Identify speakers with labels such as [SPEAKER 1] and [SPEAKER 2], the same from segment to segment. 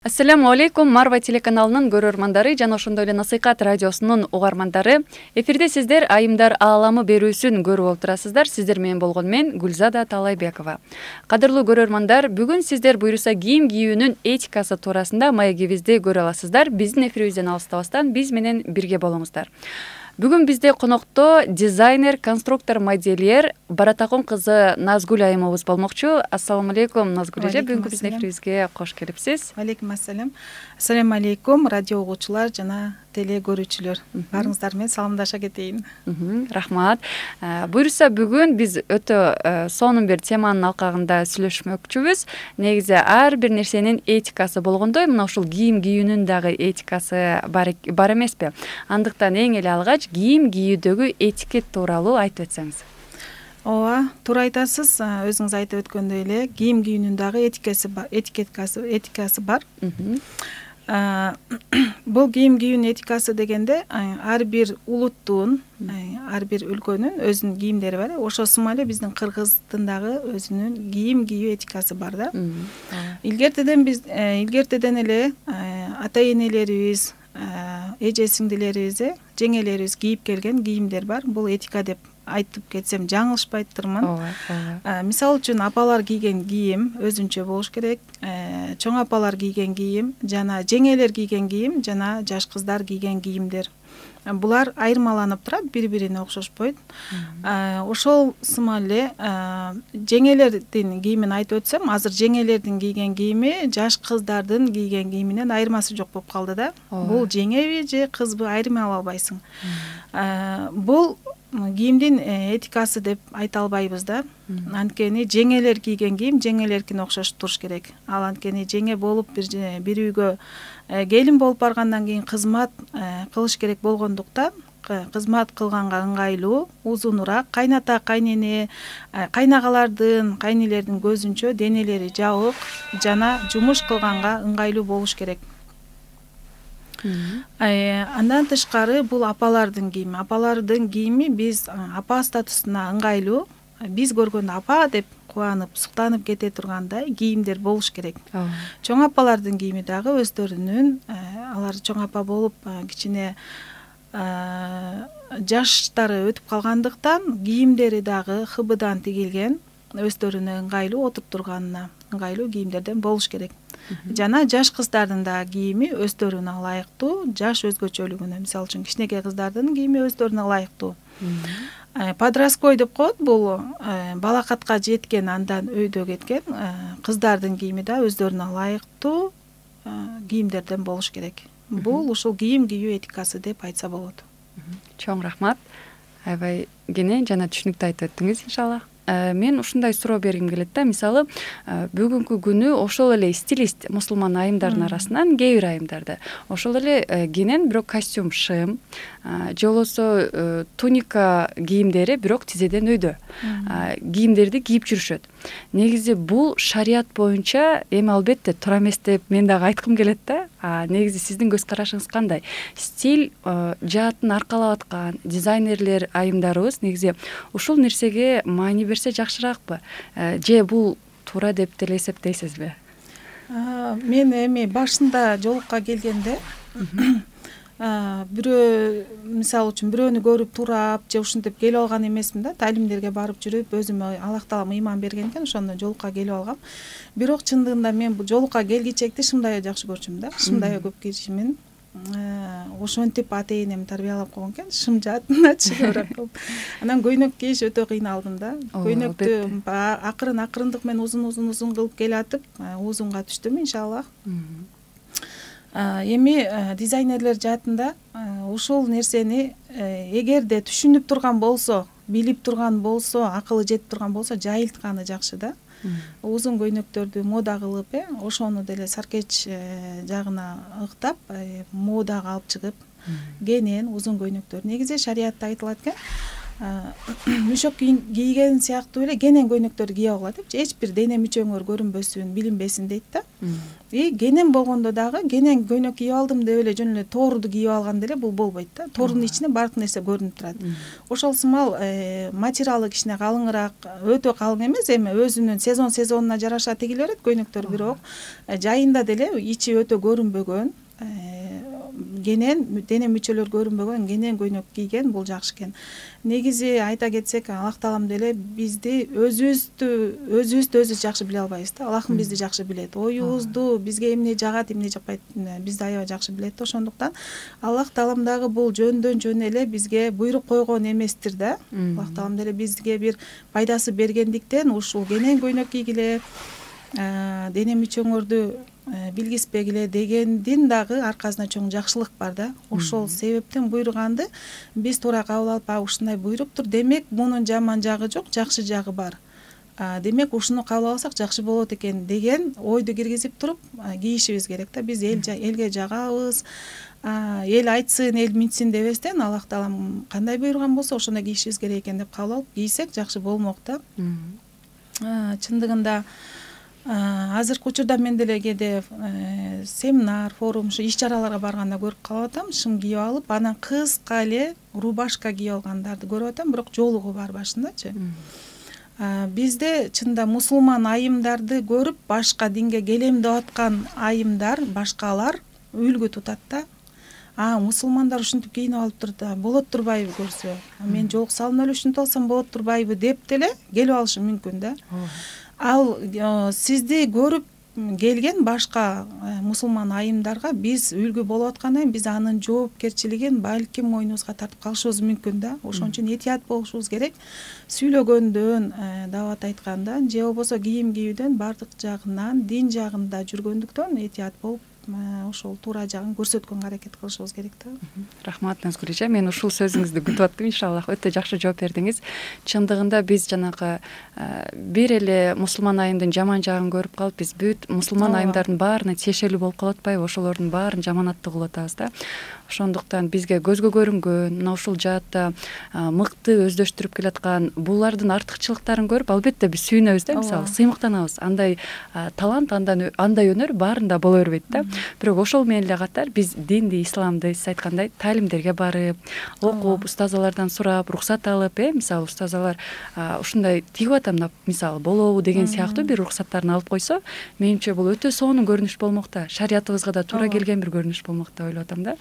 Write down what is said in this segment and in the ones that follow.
[SPEAKER 1] Ассаламу алейкум, Марва телеканалынын көрөрмандары жана ошондой эле Насыйкат радиосунун угармандары. Эфирде сиздер Айымдар ааламы берүүсүн көрүп отурасыздар. Сиздер менен болгон мен Гүлзада Талайбекова. Кадырлуу көрөрмандар, бүгүн сиздер буюрса кийим кийүүнүн этикасы туурасында маегибизди көрө аласыздар. Биздин эфирибизден алыстабастан биз менен бирге болуңуздар. Бүгүн бизде конокто дизайнер, конструктор, модельер Баратакун кызы Назгүл айымыбыз болмокчу. Ассаламу алейкум, Назгүл эже. Бүгүнкү биздин эфирибизге кош келипсиз.
[SPEAKER 2] Алейкум ассалам. Ассаламу алейкум, радио угуучулар жана теле көрүүчүлөр. Баарыңыздар менен саламдаша кетейин.
[SPEAKER 1] Рахмат. Буюрса бүгүн биз өтө сонун бир теманын алкагында сүйлөшмөкчүбүз. Негизи ар бир нерсенин этикасы болгондой, мына ушул кийим кийүүнүн дагы этикасы бар эмеспи? Андыктан эң эле алгач кийим кийүүдөгү этикет тууралуу айтып өтсөңүз.
[SPEAKER 2] Ооба, туура айтасыз. Өзүңүз айтып өткөндөй эле кийим кийүүнүн дагы этикасы бар. Бул кийим кийүүнүн этикасы дегенде ар бир улуттун, ар бир өлкөнүн өзүнүн кийимдери бар. Ошол сымал эле биздин кыргыздын дагы өзүнүн кийим кийүү этикасы бар да. Илгертеден эле ата энелерибиз, эже сиңдилерибиз, жеңелерибиз кийип келген кийимдер бар. Бул этика деп айтып кетсем жаңылышпайттырмын. Мисалы үчүн апалар кийген кийим өзүнчө болуш керек. Чоң апалар кийген кийим жана жеңелер кийген кийим жана жаш кыздар кийген кийимдер. Булар айырмаланып турат, бири-бирине окшошпойт. Ошол сымал эле жеңелердин кийимин айтып өтсөм, азыр жеңелердин кийген кийими жаш кыздардын кийген кийиминен айырмасы жок болуп калды да. Бул жеңеби же кызбы айырмалай албайсың. Бул кийимдин этикасы деп айта албайбыз да. Анткени жеңелер кийген кийим жеңелеркине окшош туруш керек. Ал анткени жеңе болуп бир үйгө келин болуп баргандан кийин кызмат кылыш керек болгондуктан кызмат кылганга ыңгайлуу, узунураак, кайната, кайнене, кайнагалардын, кайнелердин көзүнчө денелери жабык жана жумуш кылганга ыңгайлуу болуш керек. Андан тышкары бул апалардын кийими. Апалардын кийими биз апа статусуна ыңгайлуу, биз көргөндө апа деп кубанып, суктанып кете тургандай кийимдер болуш керек. Чоң апалардын кийими дагы өздөрүнүн, алар чоң апа болуп кичине жаштары өтүп калгандыктан кийимдери дагы хыбыдан тигилген, өздөрүнө ыңгайлуу, отуруп турганына ыңгайлуу кийимдерден болуш керек. Жана жаш кыздардын да кийими өздөрүнө ылайыктуу, жаш өзгөчөлүгүнө, мисалы үчүн кичинекей кыздардын кийими өздөрүнө ылайыктуу. Подростковый деп коет, бул балакатка жеткен, андан өйдө кеткен кыздардын кийими да өздөрүнө ылайыктуу кийимдерден болуш керек. Бул ушул кийим кийүү этикасы деп айтса болот.
[SPEAKER 1] Чоң рахмат. Аябай кене жана түшүнүктүү айтып өттүңүз, иншалла. Мен ушундай суроо бергим келет да. Мисалы, бүгүнкү күнү ошол эле стилист мусулман айымдардын арасынан кээ бир айымдарды ошол эле кенен бирок костюм, шым, же болбосо туника кийимдери бирок тизеден өйдө кийимдерди кийип жүрүшөт. Негизи бул шарият боюнча эми албетте туура эмес деп мен дагы айткым келет да. Негизи сиздин көз карашыңыз кандай? Стиль жаатын аркалап аткан дизайнерлер айымдарыбыз негизи ушул нерсеге маани берсе жакшыраакпы? Же бул туура деп деле эсептейсизби?
[SPEAKER 2] Мен эми башында жолукка келгенде бирөө, мисалы үчүн бирөөнү көрүп турап же ушинтип келип алган эмесмин да. Талимдерге барып жүрүп, өзүмө Аллах таалам ыйман берген экен, ошондо жолукка келип алгам. Бирок чындыгында мен бул жолукка келгичекти шымдайы жакшы көрчүмүн да. Шымдайы көп кийишимин. Ошентип ата энем тарбиялап койгон экен, шым жаатына чыгыбыраак кылып. Анан көйнөк кийиш өтө кыйналдым да. Көйнөктү акырындык менен узун кылып келатып, узунга түштүм, иншаллах. Эми дизайнерлер жаатында ушул нерсени эгерде түшүнүп турган болсо, билип турган болсо, акылы жетип турган болсо, жайылтканы жакшы да. Узун көйнөктөрдү мода кылып, ошону деле саркеч жагына ыктап, модага алып чыгып, кенен узун көйнөктөр. Негизи шариятта айтылат экен, мüşөк кийген сыяктуу эле кенен көйнөктөрдү кие алгыла депчи, эч бир дене мүчөңөр көрүнбөсүн, билинбесин дейт да. Кенен болгондо дагы кенен көйнөк кийип алдым деп эле жөн эле тооруду кийип алганда эле бул болбойт да. Тоордун ичине баардык нерсе көрүнүп турат. Ошол сымал материалы кичине калыңыраак, өтө калың эмес, эми өзүнүн сезонуна жараша тигиле берет көйнөктөр, бирок жайында деле ичи өтө көрүнбөгөн, кенен дене мүчөлөр көрүнбөгөн кенен көйнөк кийген бул жакшы экен. Негизи айта кетсек, Аллах таалам деле бизди өзүбүздү жакшы биле албайбыз да. Аллахым бизди жакшы билет. Оюбузду, бизге эмне жагат, эмне жакпайт, бизди аябай жакшы билет да. Ошондуктан Аллах таалам дагы бул жөндөн жөн эле бизге буйрук койгон эместир да. Аллах таалам деле бизге бир пайдасы бергендиктен ушул кенен көйнөк кийгиле, дене мүчөңөрдү билгиспегиле дегендин дагы аркасында чоң жакшылык бар да. Ошол себептен буйруганды биз туура кабыл алып, ушундай буйруптур, демек мунун жаман жагы жок, жакшы жагы бар. Демек ушуну кабыл алсак жакшы болот экен деген ойду киргизип туруп кийишибиз керек да. Биз элге жагабыз, эл айтсын, эл минтсин дебестен, Аллах таалам кандай буйруган болсо ошондой кийишибиз керек экен деп кабыл алып кийсек жакшы болмок да. Чындыгында азыркы учурда мен деле кээде семинар, форум, ушу иш чараларга барганда көрүп калып атам, шым кийип алып, анан кыска эле рубашка кийип алгандарды көрүп атам, бирок жоолугу бар башындачы. Бизде чында мусулман айымдарды көрүп, башка динге келем деп аткан айымдар, башкалар үлгү тутат да. Мусулмандар ушинтип кийинип алыптыр да, болот турбайбы көрсө? Мен жолук салынып эле ушинтип алсам болот турбайбы деп деле келип алышы мүмкүн да. Ал сизди көрүп келген башка мусулман айымдарга биз үлгү болуп аткандан кийин биз анын жоопкерчилигин балким мойнубузга тартып калышыбыз мүмкүн да. Ошон үчүн этият болушубуз керек. Сүйлөгөндөн, дават айткандан же болбосо кийим кийүүдөн баардык жагынан, дин жагында жүргөндүктөн этият болуп, ошол туура жагын көрсөткөнгө аракет кылышыбыз керек да.
[SPEAKER 1] Рахмат Назгүл эже, мен ушул сөзүңүздү күтүп аттым, иншаллах. Өтө жакшы жооп бердиңиз. Чындыгында биз жанагы бир эле мусулман айымдын жаман жагын көрүп калып, биз бүт мусулман айымдардын баарына тиешелүү болуп калып атпайбы? Ошолордун баарын жаманаттуу кылып атабыз да. Ошондуктан бизге көзгө көрүнгөн, мына ушул жаатта мыкты өздөштүрүп келаткан булардын артыкчылыктарын көрүп, албетте биз сүйүнөбүз да, мисалы, сыймыктанабыз. Андай талант, андай өнөр баарында боло бербейт да. Бирок ошол менен эле катар биз динди, исламды сиз айткандай талимдерге барып, окуп, устазалардан сурап, уруксат алып, мисалы устазалар ушундай тигип атам, мисалы, болобу деген сыяктуу бир уруксаттарын алып койсо, менимче бул өтө сонун көрүнүш болмок да. Шариятыбызга да туура келген бир көрүнүш болмок деп ойлоп атам да.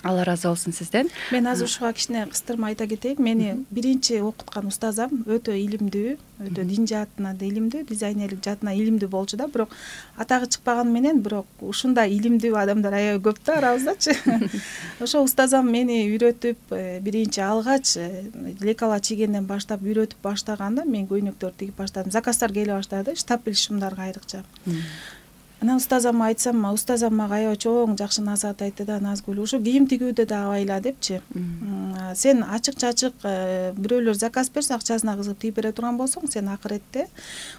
[SPEAKER 1] Алла ыраазы болсун сизден.
[SPEAKER 2] Мен азыр ушуга кичине кыстырма айта кетейин. Мени биринчи окуткан устазам өтө илимдүү, өтө дин жаатына да илимдүү, дизайнерлик жаатына илимдүү болчу да, бирок атагы чыкпаган менен, бирок ушундай илимдүү адамдар аябай көп да арабыздачы. Ошо устазам мени үйрөтүп, биринчи алгач лекала чийгенден баштап үйрөтүп баштаганда мен көйнөктөрдү тигип баштадым. Заказдар келе баштады, штапель шымдарга айрыкча. Анан устазама айтсам, устазам мага аябай чоң жакшы насаат айтты да, Назгүл, ушу кийим тигүүдө да абайла депчи. Сен ачык-чачык бирөөлөр заказ берсе, акчасына кызыгып тигип бере турган болсоң, сен акыретте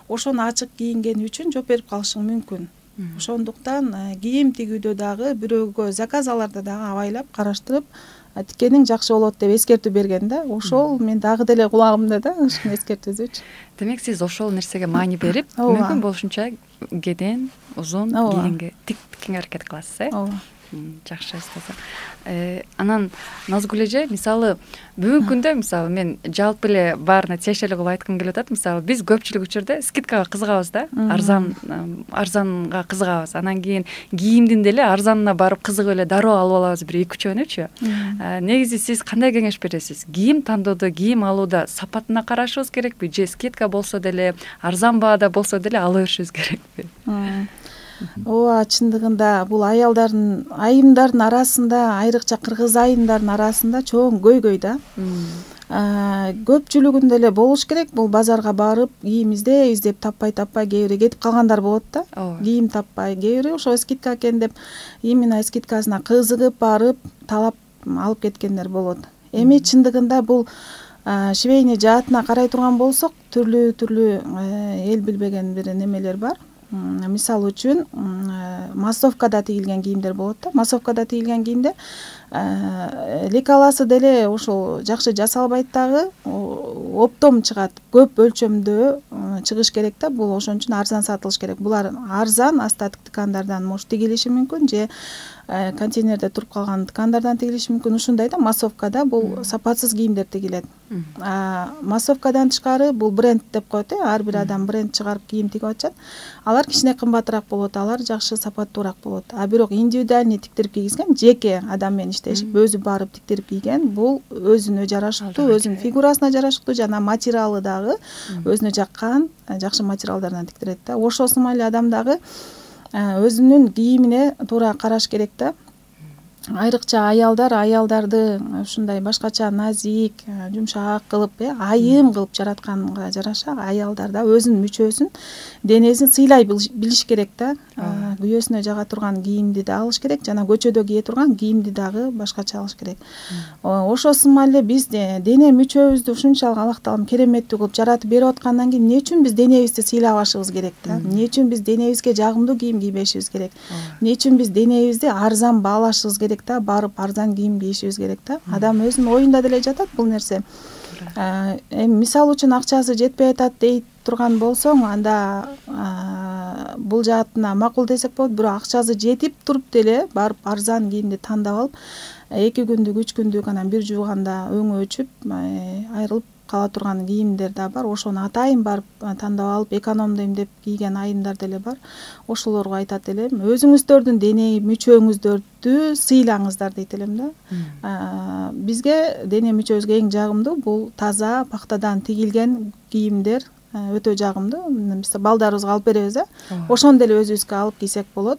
[SPEAKER 2] ошону ачык кийингени үчүн жооп берип калышың мүмкүн. Ошондуктан кийим тигүүдө дагы бирөөгө заказ аларда дагы абайлап караштырып тиккениң жакшы болот деп эскертүү берген да. Ошол мен дагы деле кулагымда да, ушуну эскертүүсүчү.
[SPEAKER 1] Демек сиз ошол нерсеге маани берип, мүмкүн болушунча кеден, узун кийимге тиккенге аракет кыласыз,
[SPEAKER 2] Ооба.
[SPEAKER 1] Жакшы устаза. Анан Назгүл эже, мисалы, бүгүнкү күндө мисалы мен жалпы эле баарына тиешелүү кылып айткым келип атат. Мисалы, биз көпчүлүк учурда скидкага кызыгабыз да, арзанга кызыгабыз. Анан кийин кийимдин деле арзанына барып кызыгып эле дароо алып алабыз бир 2-3 өнүчү. Негизи сиз кандай кеңеш бересиз? Кийим тандоодо, кийим алууда сапатына карашыбыз керекпи? Же скидка болсо деле, арзан баада болсо деле ала беришибиз керекпи?
[SPEAKER 2] Ооба, чындыгында бул айымдардын арасында, айрыкча кыргыз айымдардын арасында чоң көйгөй да. Көпчүлүгүндө эле болуш керек. Бул базарга барып, кийим издеп таппай кээ бири кетип калгандар болот да. Кийим таппай, кээ бири ошо скидка экен деп, именно скидкасына кызыгып барып, талап алып кеткендер болот. Эми чындыгында бул швейный жаатына карай турган болсок, түрлүү эл билбеген бир немелер бар. Мисалы үчүн массовкада тигилген кийимдер болот да. Массовкада тигилген кийимде лекаласы деле ошол жакшы жасалбайт дагы, оптом чыгат, көп өлчөмдө чыгыш керек да. Бул ошон үчүн арзан сатылыш керек. Булар арзан астатык ткандардан может тигилиши мүмкүн, же контейнерде туруп калган ткандардан тигилиши мүмкүн. Ушундай да, массовкада бул сапатсыз кийимдер тигилет. Массовкадан тышкары бул бренд деп коет, ар бир адам бренд чыгарып кийим тигип атышат. Алар кичине кымбатыраак болот, алар жакшы сапаттуураак болот. А бирок индивидуальный тиктирип кийгизген, жеке адам менен иштешип, өзү барып тиктирип кийген, бул өзүнө жарашыктуу, өзүнүн фигурасына жарашыктуу, жана материалы дагы өзүнө жаккан жакшы материалдардан тиктирет да. Ошосу эле адам дагы өзүнүн кийимине туура караш керек да. Айрыкча аялдарды ушундай башкача назик, жумшак кылып, айым кылып жаратканга жараша аялдар да өзүнүн мүчөсүн, денесин сыйлай билиш керек да. Күйөөсүнө жага турган кийимди да алыш керек, жана көчөдө кие турган кийимди дагы башкача алыш керек. Ошосу эле биз дене мүчөбүздү ушунчалык Аллах таалам кереметтүү кылып жаратып берип аткандан кийин эмне үчүн биз денебизди сыйлабашыбыз керек да? Эмне үчүн биз денебизге жагымдуу кийим кийбешибиз керек? Эмне үчүн биз денебизди арзан баалашыбыз керек да? Барып арзан кийим кийишибиз керек да. Адам өзүнүн оюнда деле жатат бул нерсе. Эми мисалы үчүн акчасы жетпей атат дейт турган болсоң, анда бул жаатына макул десек болот. Бирок акчасы жетип туруп деле барып арзан кийимди тандап алып, 2 күндүк 3 күндүк анан бир жууганда өңү өчүп айрылып кала турган кийимдер да бар. Ошону атайын барып тандап алып экономдойм деп кийген айымдар деле бар. Ошолорго айтат элем, өзүңүздөрдүн дене мүчөңүздөрдү сыйлаңыздар дейт элем да. Бизге дене мүчөбүзгө эң жагымдуу бул таза пактадан тигилген кийимдер өтө жагымдуу. Биз балдарыбызга алып беребиз, ошондо эле өзүбүзгө алып кийсек болот.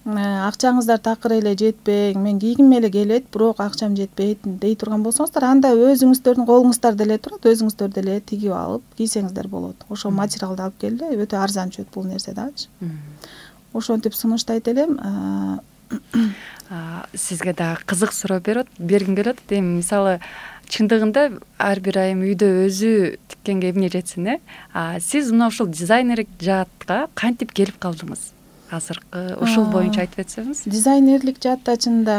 [SPEAKER 2] Акчаңыздар такыр эле жетпей, мен кийгим эле келет, бирок акчам жетпейт дей турган болсоңуздар, анда өзүңүздөрдүн колуңуздарда эле турат, өзүңүздөр деле тигип алып кийсеңиздер болот. Ошол материалды алып келди, өтө арзан түшөт бул нерсе дагычы. Ошентип сунуштайт элем.
[SPEAKER 1] Сизге дагы кызык суроо бергим келет. Эми мисалы чындыгында ар бир айым үйдө өзү тиккенге эмне жетсин, сиз мына ушул дизайнерлик жаатка кантип келип калдыңыз? Азыркы ошол боюнча айтып өтсөңүз.
[SPEAKER 2] Дизайнерлик жаатта чынында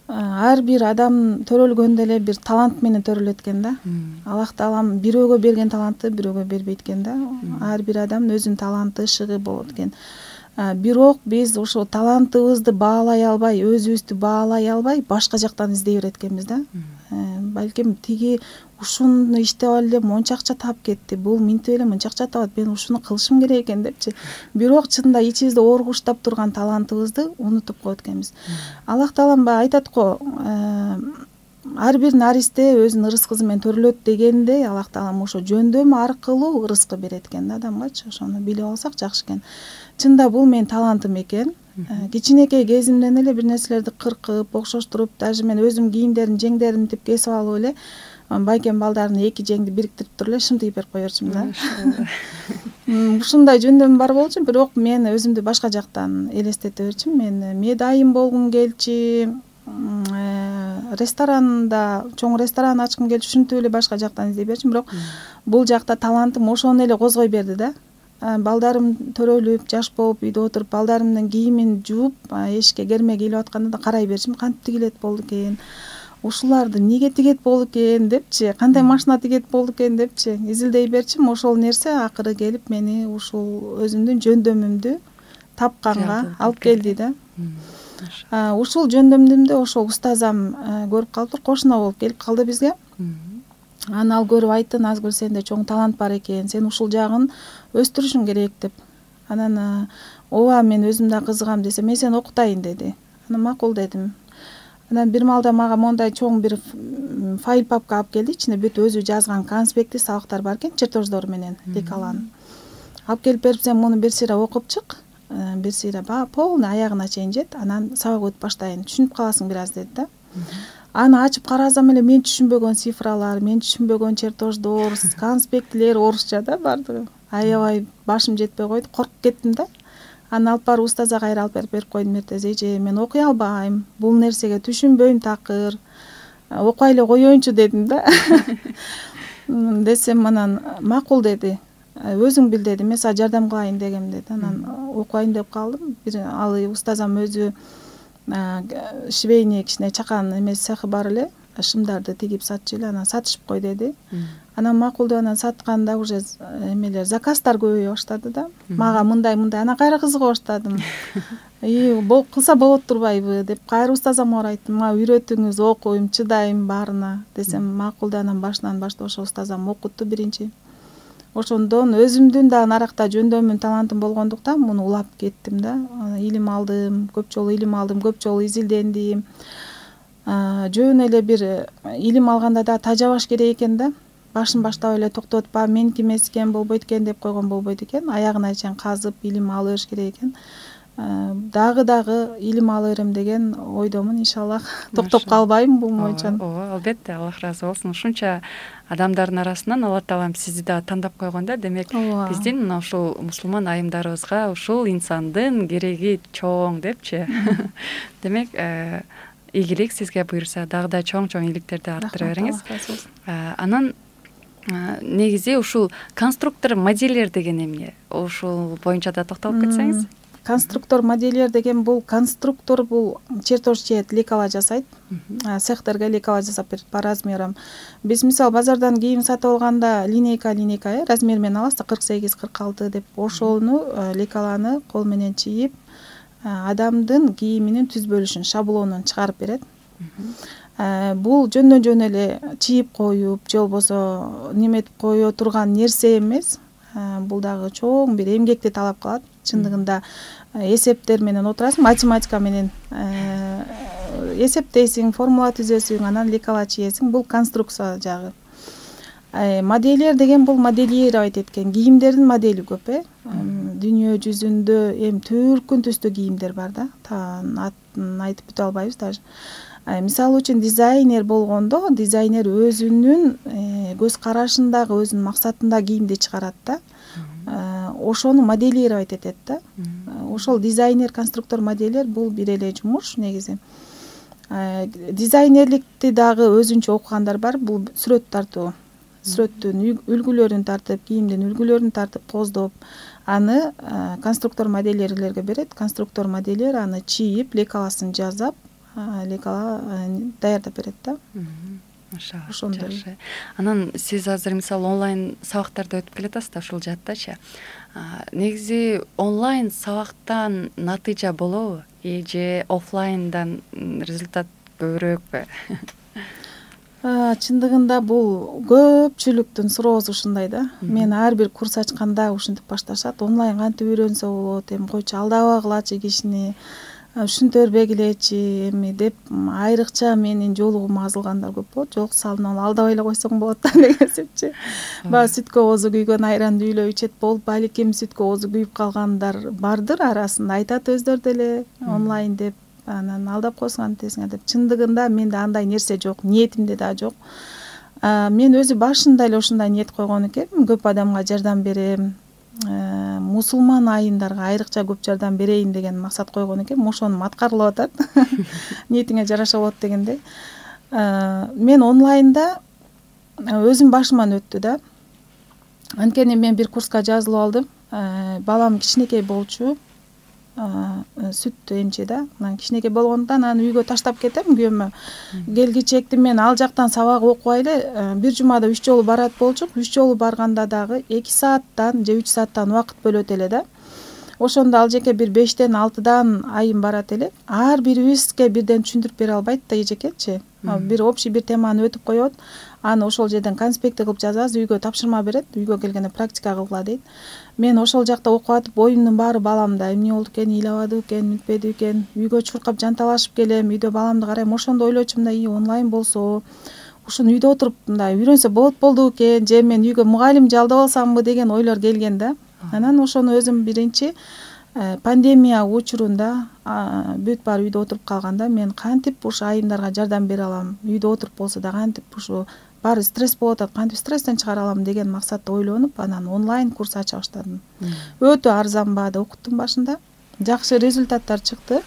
[SPEAKER 2] ар бир адам төрөлгөндө эле бир талант менен төрөлөт экен да. Аллах таалам бирөөгө берген талантты бирөөгө бербейт экен да. Ар бир адамдын өзүнүн таланты, ышыгы болот экен. Бирок биз ошо талантыбызды баалай албай, өзүбүздү баалай албай, башка жактан издей берет экенбиз да. Балким тиги ушуну иштеп алып монча акча таап кетти, бул минтип эле мынча акча табат, мен ушуну кылышым керек экен депчи. Бирок чынында ичибизде оргуштап турган талантыбызды унутуп коет экенбиз. Аллах таалам айтат го, ар бир наристе өзүнүн ырыскысы менен төрөлөт дегендей, Аллах таалам ошо жөндөм аркылуу ырыскы берет экен да адамгачы. Ошону билип алсак жакшы экен. Чында бул менин талантым экен. Кичинекей кезимден эле бир нерселерди кыркып, окшоштуруп, даже мен өзүм кийимдердин жеңдерин тип кесип алып эле байкем балдардын 2 жеңди бириктирип туруп эле шым тигип берип кое берчүмүн да. Ушундай жөндөм бар болчу, бирок мен өзүмдү башка жактан элестете берчүмүн. Мен медайым болгум келчү, ресторанда, чоң ресторан ачкым келчү, ушинтип эле башка жактан издей берчүмүн. Бирок бул жакта талантым ошону эле козгой берди да. Балдарым төрөлүп, жаш болуп, үйдө отуруп, балдарымдын кийимин жууп, эшикке керме кийлеп атканда да карай берчүмүн. Кантип тигилет болду экен? Ушуларды эмнеге тигет болду экен депчи, кандай машина тигет болду экен депчи изилдей берчүмүн. Ошол нерсе акыры келип мени ушул өзүмдүн жөндөмүмдү тапканга алып келди да. Ушул жөндөмдүмдү ошол устазам көрүп калыптыр, кошуна болуп келип калды бизге. Аны ал көрүп айтты, Назгүл, сенде чоң талант бар экен, сен ушул жагын өстүрүшүң керек деп. Анан ооба, мен өзүм да кызыгам десе, мен сени окутайын деди. Анан макул дедим. Анан бир маалда мага мондай чоң бир файл папка алып келди, ичинде бүт өзү жазган конспекти, сабактар бар экен, чертеждор менен лекаланып. Алып келип берип, сен муну бир сыйра окуп чык, бир сыйра полный аягына чейин жет, анан сабак өтүп баштайын, түшүнүп каласың бир аз деди да. Аны ачып карасам эле мен түшүнбөгөн цифралар, мен түшүнбөгөн чертеждор, конспектилер орусча да бардыгы. Аябай башым жетпей койду, коркуп кеттим да. Аны алып барып устазга кайра алып берип койдум. Эртеже, мен окуй албайм, бул нерсеге түшүнбөйм такыр, окуй эле коеюнчу дедим да. Десем анан макул деди. өзүң бил деди, мен сага жардам кылайын дегем деди. Анан окуйн деп калдым. Ал устазам өзү швейный кичине чакан эмес цехи бар эле, шымдарды тигип сатчу эле, анан сатышып кой деди. Анан макул деп анан сатканда уже эмелер заказдар көбөйө баштады да. Мага мындай анан кайра кызыга баштадым. Кылса болот турбайбы деп кайра устазамга айттым. Мага үйрөтүңүз, окуйм, чыдайм баарына десем, макул деп анан башынан баштап ошо устазам окутту биринчи. Ошондон өзүмдүн да наракта жөндөмүн, талантым болгондуктан муну улап кеттим да. Илим алдым, көп жолу илим алдым, көп жолу изилдендим. Жөн эле бир илим алганда да тажабаш керек экен да. Башын баштап эле токтотпа, меники эмес экен, болбойт экен деп койгон болбойт экен. Аягына чейин казып илим ала бериш керек экен. Дагы илим ала берем деген ойдомун, иншаллах. Токтоп калбайм бул боюнча.
[SPEAKER 1] Ооба, албетте, Аллах ыраазы болсун. Ушунча адамдардын арасынан Алла Таалам сизди да тандап койгон да. Демек, биздин мына ушул мусулман айымдарыбызга ушул инсандын кереги чоң депчи. Демек, ийгилик сизге буйрса, дагы да чоң ийгиликтерди арттыра бериңиз. Анан негизи ушул конструктор модельер деген эмне? Ушул боюнча да токтолуп кетсеңиз.
[SPEAKER 2] Конструктор модельер деген бул конструктор, бул чертеж чейет, лекала жасайт. Цехтерге лекала жасап берет по размерам. Биз мисалы базардан кийим сатып алганда линейка размер менен алабыз да, 48-46 деп. Ошону лекаланы кол менен чийип, адамдын кийиминин түзбөлүшүн, шаблонун чыгарып берет. Бул жөндөн эле чийип коюп, же болбосо неметип кое турган нерсе эмес. Бул дагы чоң бир эмгекти талап кылат. Чындыгында эсептер менен отурасың, математика менен эсептейсиң, формула түзөсүң, анан лекала чийесиң. Бул конструкция жагы. Модельер деген бул моделировать эткен кийимдердин модели көп, Дүйнө жүзүндө түркүн түстүү кийимдер бар да. Атын айтып бүтө албайбыз даже. Мисалы үчүн дизайнер болгондо, дизайнер өзүнүн көз карашындагы, өзүнүн максатындагы кийимди чыгарат да. Ошону моделировать этет да. Ошол дизайнер, конструктор, модельер бул бир эле жумуш негизи. Дизайнерликти дагы өзүнчө окугандар бар. Бул сүрөт тартуу. Сүрөттүн үлгүлөрүн тартып, кийимдин үлгүлөрүн тартып, коздоп, аны конструктор, модельерлерге берет. Конструктор, модельер аны чийип, лекаласын жазап, лекала даярдап берет да. Ошондой.
[SPEAKER 1] Анан сиз азыр мисалы онлайн сабактарды өтүп келатасыз да, ушул жаттачы. Негизи онлайн сабактан натыйжа болобу же офлайндан результат көбүрөөкпү?
[SPEAKER 2] Чындыгында бул көпчүлүктүн суроосу ушундай да. Мен ар бир курс ачканда ушинтип башташат. Онлайн кантип үйрөнсө болот, койчу алдабагылачы кишини, ушинтөрбегилечи деп айрыкча менин жолугума азылгандар көп болот. Жок, салына алдабай эле койсоң болот да деген сепчи. Баягы сүткө оозу күйгөн айранды үйлөп ичет болуп, балким сүткө оозу күйүп калгандар бардыр арасында. Айтат өздөрү деле онлайн деп, анан алдап койсуң антесиңер деп. Чындыгында менде андай нерсе жок, ниетимде да жок. Мен өзү башында эле ушундай ниет койгон экенмин, көп адамга жардам берем, мусулман айымдарга айрыкча көп жардам берейин деген максат койгон экенмин. Ошонум аткарылып атат. Ниетиңе жараша болот дегендей. Мен онлайнда өзүм башыман өттү да. Анткени мен бир курска жазылып алдым. Балам кичинекей болчу. Сүт эмчи да. Анан кичинекей болгондуктан аны үйгө таштап кетем күйөөмө. Келгичекти мен ал жактан сабак окубай эле бир жумада 3 жолу барат болчук. 3 жолу барганда дагы 2 сааттан же 3 сааттан убакыт бөлөт эле да. Ошондо ал жеке бир 5-тен 6-дан айым барат эле. Ар бирибизге бирден түшүндүрүп бере албайт да эжекечи. Бир общий бир теманы өтүп коет. Аны ошол жерден конспекти кылып жазабыз, үйгө тапшырма берет. Үйгө келгенде практика кылгыла дейт. Мен ошол жакта окуп атып, оюмдун баары баламда. Эмне болду экен, ыйлабады экен, мүнтпеди экен. Үйгө чуркап жанталашып келем, үйдө баламды карайм. Ошондо ойлочумун да, онлайн болсо, ушуну үйдө отуруп мындай үйрөнсө болду экен, же мен үйгө мугалим жалдап алсамбы деген ойлор келген да. Анан ошону өзүм биринчи пандемия учурунда бүт баары үйдө отуруп калганда мен кантип ушу айымдарга жардам бере алам, үйдө отуруп болсо да кантип ушу баары стресс болуп атат, кантип стресстен чыгара алам деген максатта ойлонуп, анан онлайн курс ача баштадым. Өтө арзан баада окуттум башында. Жакшы результаттар чыкты.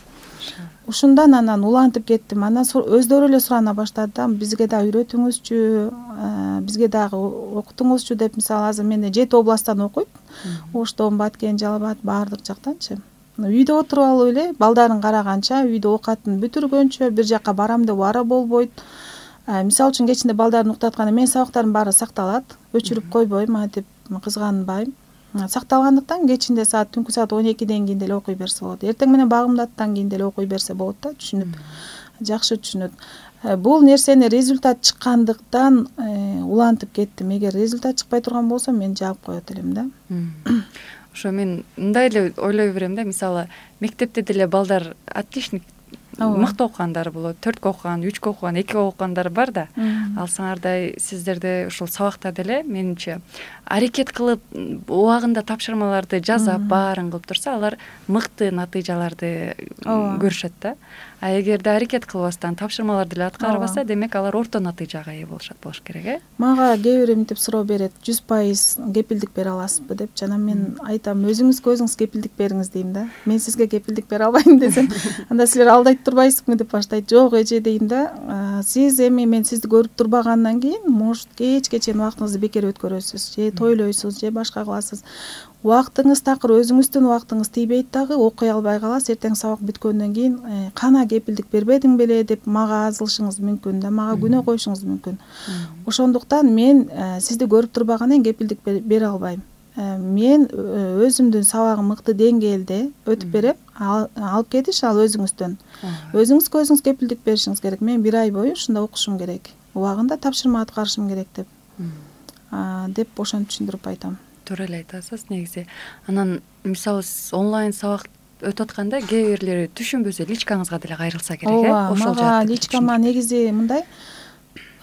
[SPEAKER 2] ушундан анан улантып кеттим. Анан өздөрү эле сурана баштады да, бизге да үйрөтүңүзчү, бизге дагы окутуңузчу деп. Мисалы азыр менде 7 областтан окуйт. Оштон, Баткен, Жалал Абад баардык жактанчы. Үйдө отуруп алып эле балдарын караганча, үйдө оокатын бүтүргөнчө бир жака барам деп ара болбойт. Мисалы үчүн кечинде балдарын уктатканда менин сабактарым баары сакталат, өчүрүп койбойм, антип кызганбайм. Сакталгандыктан кечинде түнкү саат 12ден кийин деле окуй берсе болот. Эртең менен багымдаттан кийин деле окуй берсе болот да, түшүнүп, жакшы түшүнөт. Бул нерсени результат чыккандыктан улантып кеттим. Эгер результат чыкпай турган болсо мен жаап коет элем да.
[SPEAKER 1] Ошо мен мындай эле ойлой берем да, мисалы мектепте деле балдар отличник мыкты окугандар болот, 4кө окуган, 3кө окуган, 2кө окугандар бар да. Ал саңардай сиздерде ушул сабакта деле менимче аракет кылып убагында тапшырмаларды жасап, баарын кылып турса, алар мыкты натыйжаларды көрүшөт да. А эгерде аракет кылбастан тапшырмаларды деле аткарбаса, демек алар орто натыйжага ээ болуш керек,
[SPEAKER 2] Мага кээ бир мынтип суроо берет, 100% кепилдик бере аласызбы деп. Жана мен айтам, өзүңүзгө өзүңүз кепилдик бериңиз дейм да. Мен сизге кепилдик бере албайм десем, анда силер алдайт турбайсызбы деп баштайт. Жок эже дейм да. Сиз эми мен сизди көрүп турбагандан кийин, может, кечке чейин убактыңызды бекер өткөрөсүз, же тойлойсуз, же башка кыласыз. Убактыңыз такыр, өзүңүздүн убактыңыз тийбейт дагы, окуй албай каласыз. Эртең сабак бүткөндөн кийин кана кепилдик бербедиң беле деп мага азылышыңыз мүмкүн да, мага күнөө коюшуңуз мүмкүн. Ошондуктан мен сизди көрүп турбагандан кийин кепилдик бере албайм. Мен өзүмдүн сабагым мыкты деңгээлде өтүп берем, алып кетиш ал өзүңүздөн. Өзүңүзгө өзүңүз кепилдик беришиңиз керек. Мен 1 ай бою ушунда окушум керек, убагында тапшырма аткарышым керек деп ошентип түшүндүрүп айтам.
[SPEAKER 1] Туура эле айтасыз негизи. Анан мисалы онлайн сабак өтүп атканда кээ бирлери түшүнбөсө личкаңызга деле кайрылса керек,
[SPEAKER 2] ошол жакты. Личкама негизи мындай,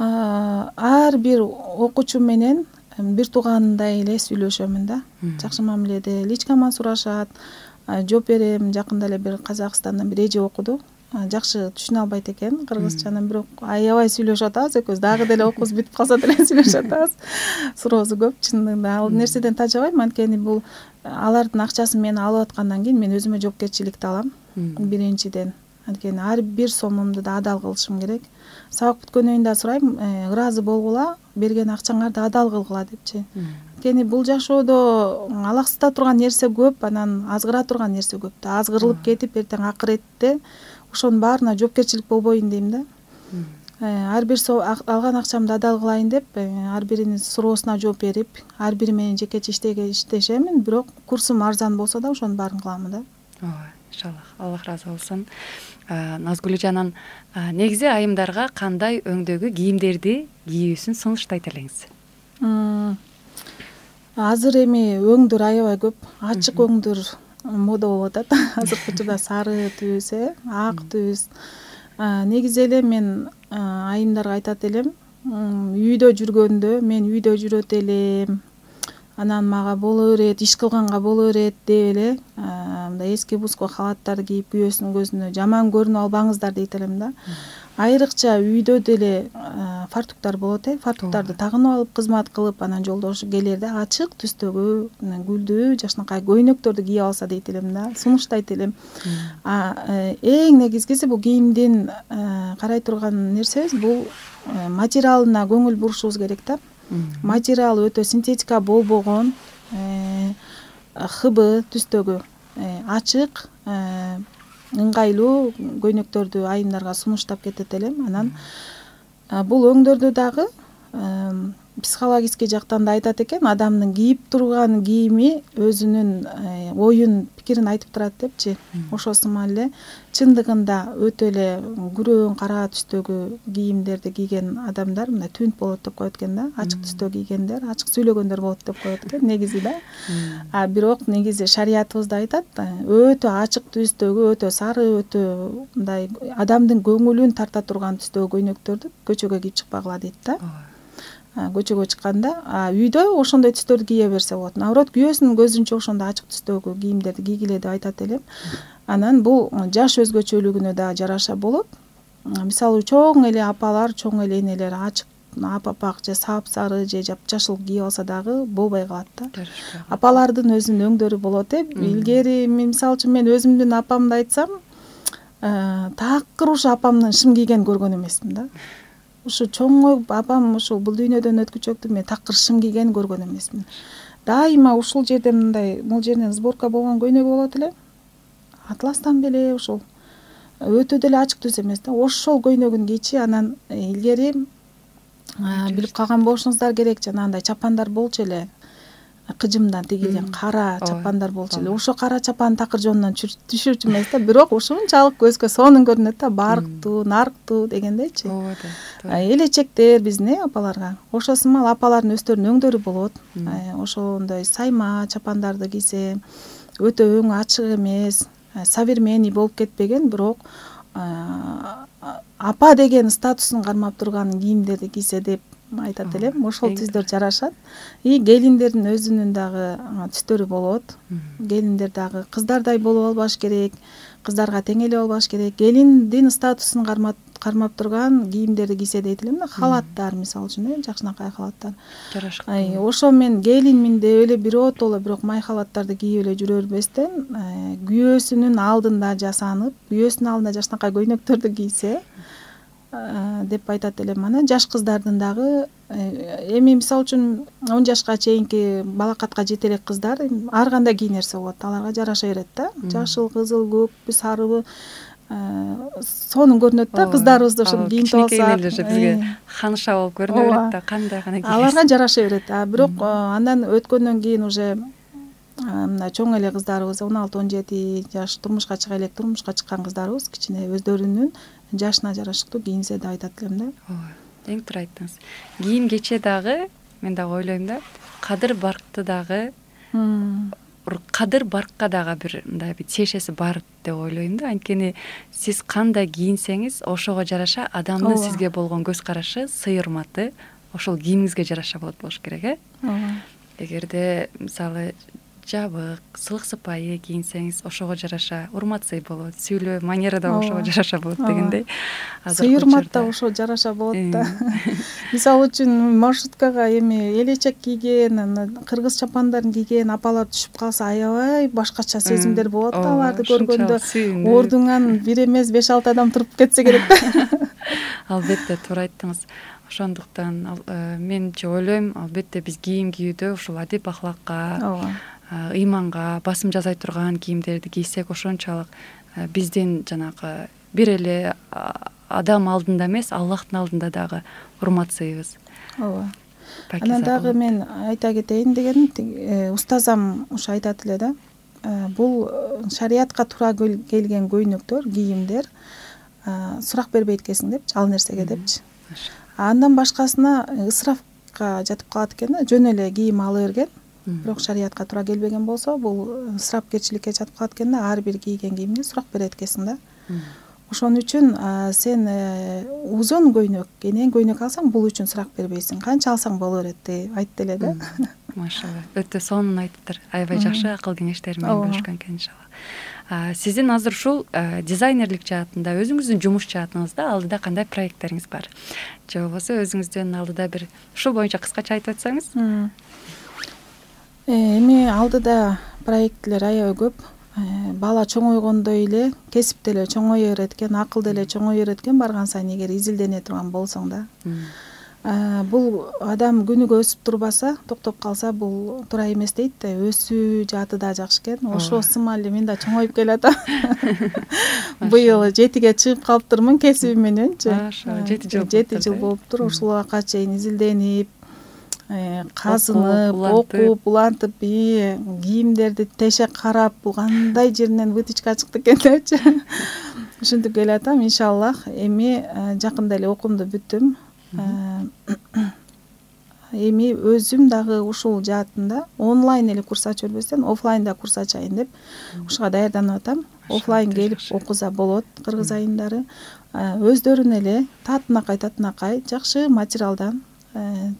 [SPEAKER 2] ар бир окуучу менен бир туугандай эле сүйлөшөмүн да. Жакшы мамиледе личкама сурашат, жооп берем. Жакында эле бир Казакстандан бир эже окуду. Жакшы түшүнө албайт экен кыргызчаны, бирок аябай сүйлөшүп атабыз экөөбүз. Дагы деле окуубуз бүтүп калса деле сүйлөшүп атабыз. Суроосу көп чындыгында. Ал нерседен тажабайм, анткени бул алардын акчасын мен алып аткандан кийин мен өзүмө жоопкерчиликти алам. Биринчиден, анткени ар бир сомумду да адал кылышым керек. Сабак бүткөндөн кийин да сурайм, ыраазы болгула, берген акчаңарды адал кылгыла депчи. Анткени бул жашоодо алаксыта турган нерсе көп, анан азгыра турган нерсе көп да. Азгырылып кетип, эртең акыретте ошонун баарына жоопкерчилик болбоюн дейм да. Ар бир алган акчамды адал кылайын деп, ар биринин суроосуна жооп берип, ар бири менен жекече иштешемин, бирок курсум арзан болсо да ошонун баарын кылам да.
[SPEAKER 1] Ооба, иншаллах, Аллах ыраазы болсун. Назгүлжан, негизи айымдарга кандай өңдөгү кийимдерди кийүүсүн сунуштайт элеңиз?
[SPEAKER 2] Азыр эми өңдөр аябай көп, ачык өңдөр мода болуп атат. Азыркы учурда сары түз, ак түз. Негизи эле мен айымдарга айтат элем, үйдө жүргөндө мен үйдө жүрөт элем, анан мага боло берет, иш кылганга боло берет деп эле мындай эски бузко халаттар кийип күйөөсүнүн көзүнө жаман көрүнүп албаңыздар дейт элем да. Айрыкча үйдө деле фартуктар болот, фартуктарды тагынып алып кызмат кылып, анан жолдошу келерде ачык түстөгү гүлдүү жакшынакай көйнөктөрдү кийип алса дейт элем да, сунуштайт элем. Эң негизгиси бул кийимдин карай турган нерсебиз бул материалына көңүл бурушубуз керек да. Материалы өтө синтетика болбогон, хыбы түстөгү ачык, ыңгайлуу көйнөктөрдү айымдарга сунуштап кетет элем. Анан бул өңдөрдү дагы психологический жактан да айтат экен, адамдын кийип турган кийими өзүнүн оюн, пикирин айтып турат депчи. Ошосума эле чындыгында өтө эле күрөң кара түстөгү кийимдерди кийген адамдар мындай түнт болот деп коет экен да. Ачык түстө кийгендер, ачык сүйлөгөндөр болот деп коет экен негизи да. Бирок негизи шариятыбызда айтат, өтө ачык түстөгү, өтө сары, өтө мындай адамдын көңүлүн тарта турган түстөгү көйнөктөрдү көчөгө кийип чыкпагыла дейт да. Көчөгө чыкканда, үйдө ошондой түстөрдү кие берсе болот. Наоборот, күйөөсүнүн көзүнчө ошондой ачык түстөгү кийимдерди кийгиле деп айтат элем. Анан бул жаш өзгөчөлүгүнө да жараша болот. Мисалы чоң эле апалар, чоң эле энелер ачык апак же сапсары же жапжашыл кийип алса дагы болбой калат да. Апалардын өзүнүн өңдөрү болот. Илгери мисалы үчүн мен өзүмдүн апамды айтсам, такыр ушу апамдын шым кийгенин көргөн эмесмин да. Ушу чоңоюп апам ушул бул дүйнөдөн өткүчөктү мен такыр шым кийгенин көргөн эмесмин. Дайыма ушул жерден мындай бул жерден сборка болгон көйнөгү болот эле. Атластан беле ушул өтө деле ачык түз эмес да. Ошол көйнөгүн кийчи. Анан илгери билип калган болушуңуздар керек, жанагындай чапандар болчу эле. Кыжымдан тигилген кара чапандар болчу эле. Ошо кара чапан такыр жонунан түшүрчү эмес да, бирок ушунчалык көзгө сонун көрүнөт да, барктуу, нарктуу дегендейчи. Элечектер биздин апаларга. Ошо сымал апалардын өздөрүнүн өңдөрү болот. Ошондой сайма чапандарды кийсе өтө өңү ачык эмес, современный болуп кетпеген, бирок апа деген статусун кармап турган кийимдерди кийсе деп айтат элем. Ошол түздөр жарашат. И келиндердин өзүнүн дагы түстөрү болот. Келиндер дагы кыздардай болуп албаш керек, кыздарга тең эле болбаш керек. Келиндин статусун кармап турган кийимдерди кийсе дейт элем да, халаттар мисалы үчүн, жакшынакай халаттар. Жарашкан. Ошо мен келинмин деп эле биротоло бирок май халаттарды кийип эле жүрө бербестен, күйөөсүнүн алдында жасанып, күйөөсүнүн алдында жакшынакай көйнөктөрдү кийсе деп айтат элем. Анан жаш кыздардын дагы эми мисалы үчүн 10 жашка чейинки балакатка жете элек кыздар ар кандай кийинерсе болот, аларга жараша берет да. Жашыл, кызыл, көкпү, сарыбы сонун көрүнөт да, кыздарыбызды ошо кийинтип алсак.
[SPEAKER 1] Бизге ханыша болуп көрүнө берет да, кандай гана кийсе.
[SPEAKER 2] Аларга жараша берет. Бирок андан өткөндөн кийин уже мына чоң эле кыздарыбыз 16-17 жаш турмушка чыга элек, турмушка чыккан кыздарыбыз кичине өздөрүнүн жашына жараштуу кийинсе деп айтат элем да.
[SPEAKER 1] Ооба, эң туура айттыңыз. Кийим кече дагы мен дагы ойлойм да, кадыр баркты дагы, кадыр баркка дагы бир мындай бир тиешеси бар деп ойлойм да. Анткени сиз кандай кийинсеңиз, ошого жараша адамдын сизге болгон көз карашы, сый-урматы ошол кийимиңизге жараша болуш керек,
[SPEAKER 2] Ооба.
[SPEAKER 1] Эгерде мисалы жабык, сылык сыпайы кийинсеңиз, ошого жараша урмат-сый болот, сүйлөө манера да ошого жараша болот дегендей.
[SPEAKER 2] Сый-урмат да ошо жараша болот да. Мисалы үчүн маршруткага эми элечек кийген, кыргыз чапандарын кийген апалар түшүп калса, аябай башкача сезимдер болот да аларды көргөндө. Ордуңан бир эмес 5-6 адам туруп кетсе керек да.
[SPEAKER 1] Албетте, туура айттыңыз. Ошондуктан менчи ойлойм, албетте биз кийим кийүүдө ушул адеп ахлакка, ыйманга басым жасай турган кийимдерди кийсек, ошончолук биздин жанагы бир эле адам алдында эмес, Аллахтын алдында дагы урмат-сыйыбыз.
[SPEAKER 2] Ооба. Анан дагы мен айта кетейин дегеним, устазам ушу айтат эле да. Бул шариятка туура келген көйнөктөр, кийимдер сурак бербейт экенсиң депчи, ал нерсеге депчи. Андан башкасына ысрафка жатып калат экен да, жөн эле кийим ала берген, бирок шариятка туура келбеген болсо, бул ысрафкерчиликке жатып калат экен да, ар бир кийген кийимге сурак берет экенсиң да. Ошон үчүн сен узун көйнөк, кенен көйнөк алсаң, бул үчүн сурак бербейсиң. Канча алсаң боло берет деп айтты эле да.
[SPEAKER 1] Машалла. Өтө сонун айттыр. Аябай жакшы акыл кеңештер менен бөлүшкөн экен иншалла. Сиздин азыр ушул дизайнерлик жаатында, өзүңүздүн жумуш жаатыңызда алдыда кандай проекттериңиз бар? Же болбосо өзүңүздүн алдыда бир ушул боюнча кыскача айтып өтсөңүз?
[SPEAKER 2] Эми алдыда проекттер аябай көп. Бала чоңойгондой эле, кесип деле чоңое берет экен, акыл деле чоңое берет экен барган сайын эгер изилдене турган болсоң да. Бул адам күнүгө өсүп турбаса, токтоп калса, бул туура эмес дейт да. Өсүү жааты да жакшы экен. Ошо сымал мен да чоңоюп келатам. Быйыл 7ге чыгып калыптырмын кесибим мененчи. 7 жыл болуптур. Ушулга чейин изилденип, казынып, окуп, улантып, кийимдерди тешек карап, бул кандай жеринен вытычка чыкты экен депчи. Ушинтип келатам, иншаллах. Эми жакында эле окуумду бүттүм. Эми өзүм дагы ушул жаатында онлайн эле курс ачып бербестен, офлайнда курс ачайын деп ушуга даярданып атам. Офлайн келип окуза болот кыргыз айымдары. Өздөрүн эле татынакай жакшы материалдан,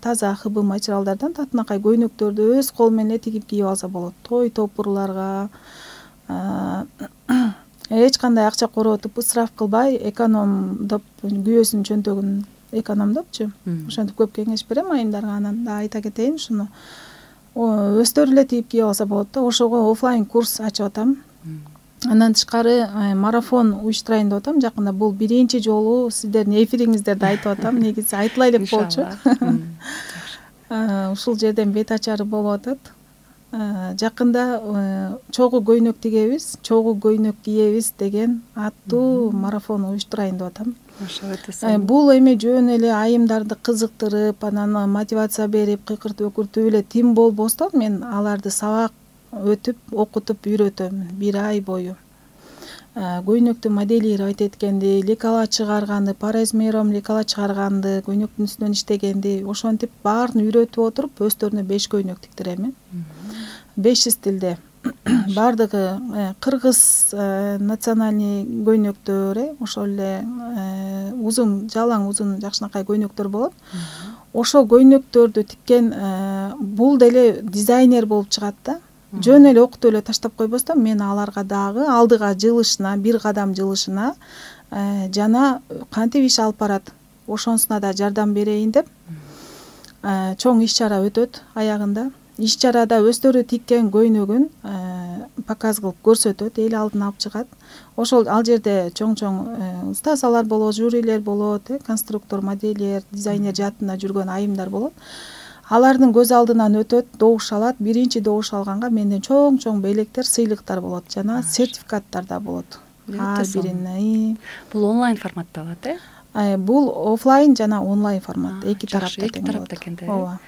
[SPEAKER 2] таза хыбы материалдардан татынакай көйнөктөрдү өз колу менен эле тигип кийип алса болот. Той топурларга эч кандай акча короотуп, ысраф кылбай, экономдоп, күйөөсүнүн чөнтөгүн экономдопчу. Ошентип көп кеңеш берем айымдарга. Анан да айта кетейин, ушуну өздөрү эле тигип кийип алса болот да. Ошого офлайн курс ачып атам. Андан тышкары марафон уюштурайын деп атам жакында. Бул биринчи жолу сиздердин эфириңиздерде айтып атам. Негизи айтылай элек болчу. Ушул жерден бет ачары болуп атат. Жакында чогуу көйнөк тигебиз, чогуу көйнөк кийебиз деген аттуу марафон уюштурайын деп атам. Бул эми жөн эле айымдарды кызыктырып, анан мотивация берип, кыйкыртып өкүртүп эле тим болбостон, мен аларды сабак өтүп, окутуп үйрөтөм 1 ай бою. Көйнөктү моделировать эткенди, лекала чыгарганды, параизмером лекала чыгарганды, көйнөктүн үстүнөн иштегенди, ошентип баарын үйрөтүп отуруп, өздөрүнө 5 көйнөк тиктирем. 500 тилде. Бардыгы кыргыз национальный көйнөктөр, ошол эле узун, жалаң узун жакшынакай көйнөктөр болот. Ошол көйнөктөрдү тиккен бул деле дизайнер болуп чыгат да. Жөн эле окутуп эле таштап койбостон, мен аларга дагы алдыга жылышына, 1 кадам жылышына жана кантип иш алып барат, ошонусуна да жардам берейин деп чоң иш-чара өтөт аягында. Иш-чарада өздөрү тиккен көйнөгүн показ кылып көрсөтөт, эл алдына алып чыгат. Ошол ал жерде чоң устазалар болот, жюрилер болот, конструктор, модельер, дизайнер жаатында жүргөн айымдар болот. Алардын көз алдынан өтөт, добуш алат. Биринчи добуш алганга менден чоң белектер, сыйлыктар болот жана сертификаттар да болот. Ар бирин.
[SPEAKER 1] Бул онлайн форматта болот,
[SPEAKER 2] Бул офлайн жана онлайн формат. Эки тарапта экен. Ооба.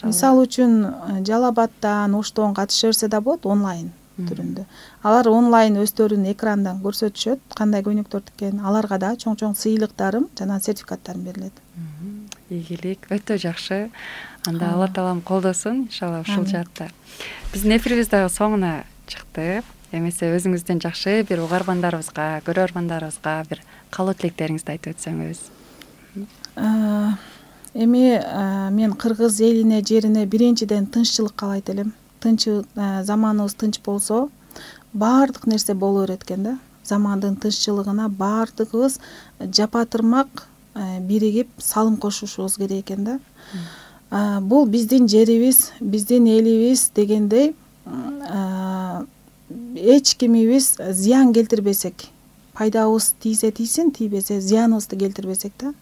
[SPEAKER 2] Мисалы үчүн Жалал Абадтан, Оштон катыша берсе да болот онлайн түрүндө. Алар онлайн өздөрүнүн экрандан көрсөтүшөт, кандай көйнөктөр тиккен. Аларга да чоң сыйлыктарым жана сертификаттарым берилет.
[SPEAKER 1] Ийгилик, өтө жакшы. Анда Алла таалам колдосун, иншалла ушул жаатта. Биздин эфирибиз дагы соңуна чыкты. Эмесе өзүңүздөн жакшы бир угармандарыбызга, көрөрмандарыбызга бир каалоо тилектериңизди айтып өтсөңүз.
[SPEAKER 2] Эми мен кыргыз элине, жерине биринчиден тынччылык каалайт элем. Заманыбыз тынч болсо, баардык нерсе боло берет экен да. Замандын тынччылыгына баардыгыбыз жапатырмак биригип салым кошушубуз керек экен да. Бул биздин жерибиз, биздин элибиз дегендей эч кимибиз зыян келтирбесек, пайдабыз тийсе тийсин, тийбесе зыяныбызды келтирбесек да.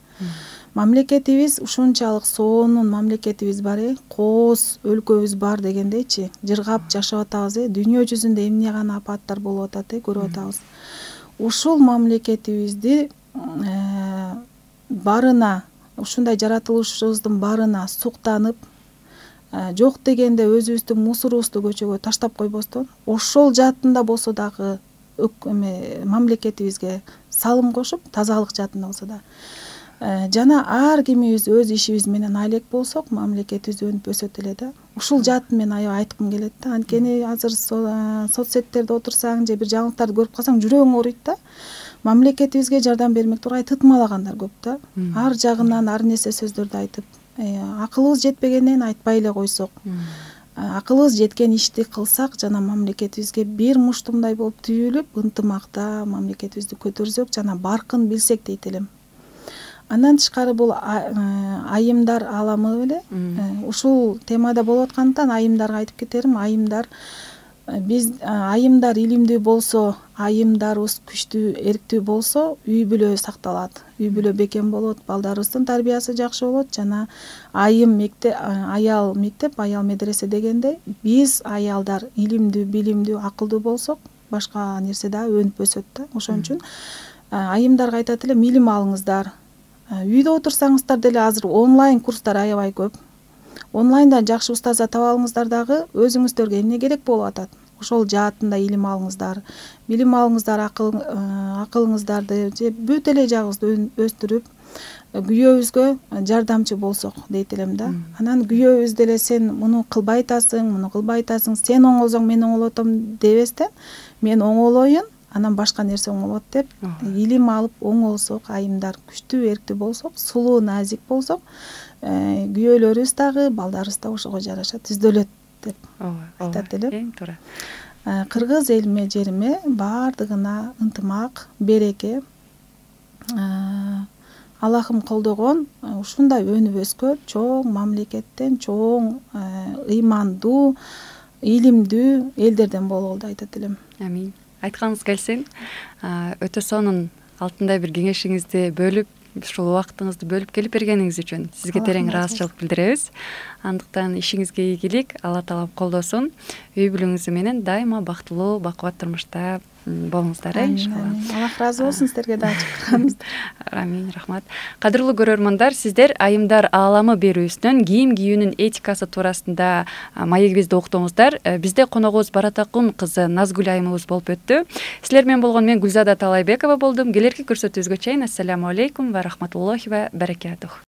[SPEAKER 2] Мамлекетибиз ушунчалык сонун мамлекетибиз бар, кооз өлкөбүз бар дегендейчи, жыргап жашап атабыз, дүйнө жүзүндө эмне гана апаттар болуп атат, көрүп атабыз. Ушул мамлекетибизди барына, ушундай жаратылышыбыздын барына суктанып, жок дегенде өзүбүздүн мусорубузду көчөгө таштап койбостон, ошол жаатында болсо дагы мамлекетибизге салым кошуп, тазалык жаатында болсо да. Жана ар кимибиз өз ишибиз менен алек болсок, мамлекетибиз өнүп өсөт эле да. Ушул жаатын мен аябай айткым келет да. Анткени азыр соц сеттерде отурсаң же бир жаңылыктарды көрүп калсаң жүрөгүң ооруйт да. Мамлекетибизге жардам бермек тургай тытмалагандар көп да. Ар жагынан ар нерсе сөздөрдү айтып, акылыбыз жетпегенен айтпай эле койсок, акылыбыз жеткен ишти кылсак жана мамлекетибизге бир муштумдай болуп түйүлүп, ынтымакта мамлекетибизди көтөрсөк жана баркын билсек дейт элем. Андан тышкары бул айымдар аламы беле. Ушул темада болуп аткандыктан айымдарга айтып кетерим. Биз айымдар илимдүү болсо, айымдарыбыз күчтүү, эрктүү болсо, үй бүлө сакталат. Үй бүлө бекем болот, балдарыбыздын тарбиясы жакшы болот жана аял мектеп, аял медресе дегендей, биз аялдар илимдүү, билимдүү, акылдуу болсок, башка нерсе да өнүп өсөт да. Ошон үчүн айымдарга айтат элем, илим алыңыздар. Үйдө отурсаңыздар деле азыр онлайн курстар аябай көп. Онлайндан жакшы устаза таба алыңыздар дагы өзүңүздөргө эмне керек болуп атат. Ошол жаатында илим алыңыздар. Билим алыңыздар, акылыңыздарды же бүт эле жагыңызды өстүрүп, күйөөбүзгө жардамчы болсок дейт элем да. Анан күйөөбүз деле сен муну кылбай атасың, сен оңолсоң мен оңолотом дебестен, мен оңолоюн, анан башка нерсе оңолот деп, илим алып оңолсок, айымдар күчтүү, эрктүү болсок, сулуу, назик болсок, күйөөлөрүбүз дагы, балдарыбыз да ошого жараша түздөлөт деп айтат элем.
[SPEAKER 1] Эң туура.
[SPEAKER 2] Кыргыз элиме, жериме баардыгына ынтымак, береке, Аллахым колдогон ушундай өнүп өскөн чоң мамлекеттен, чоң ыймандуу, илимдүү элдерден бололу деп айтат элем.
[SPEAKER 1] Амин. айтканыңыз келсин. Өтө сонун алтындай бир кеңешиңизди бөлүп, ушул убактыңызды бөлүп келип бергениңиз үчүн сизге терең ыраазычылык билдиребиз. Андыктан ишиңизге ийгилик, Алла таалам колдосун. Үй бүлөңүз менен дайыма бактылуу, бакубат турмушта болуңуздар, иншалла.
[SPEAKER 2] Аллах ыраазы болсун сиздерге дагы чакырганыңыздар.
[SPEAKER 1] Амин, рахмат. Кадырлуу көрөрмандар, сиздер Айымдар ааламы берүүсүнөн кийим кийүүнүн этикасы туурасында маегибизди уктуңуздар. Бизде коногубуз Баратакун кызы Назгүл айымыбыз болуп өттү. Силер менен болгон мен Гүлзада Талайбекова болдум. Келерки көрсөтүүбүзгө чейин ассаламу алейкум ва рахматуллахи ва баракатух.